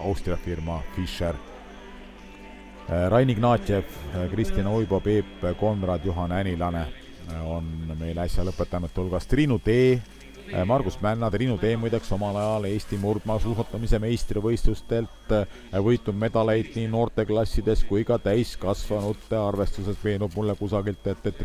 Austria firma Fischer. Rain Ignatjev, Kristjan Oibo, Peep Konrad, Juhan Änilane on meil äsja lõpetanute hulgas. Triinu Tee, Margus Männa, Triinu Tee muideks omal ajal Eesti murdmaasuusatamise meistrivõistlustelt võitnud medaleid nii noorteklassides kui ka täiskasvanute arvestuses. Veenub mulle kusagilt, et